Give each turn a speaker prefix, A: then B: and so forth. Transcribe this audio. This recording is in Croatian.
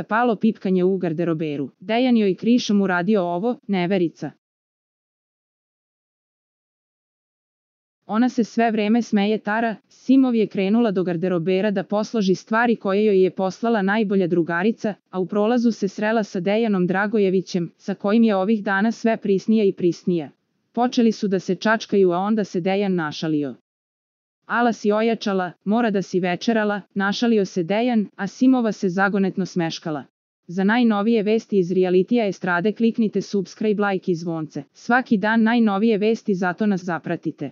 A: palo pipkanje u garderoberu. Dejan joj krišom uradio ovo, neverica. Ona se sve vreme smeje Tara, Simov je krenula do garderobera da posloži stvari koje joj je poslala najbolja drugarica, a u prolazu se srela sa Dejanom Dragojevićem, sa kojim je ovih dana sve prisnija i prisnija. Počeli su da se čačkaju, a onda se Dejan našalio. Ala si ojačala, mora da si večerala, našalio se Dejan, a Simova se zagonetno smeškala. Za najnovije vesti iz realitija estrade kliknite subscribe, like i zvonce. Svaki dan najnovije vesti, zato nas zapratite.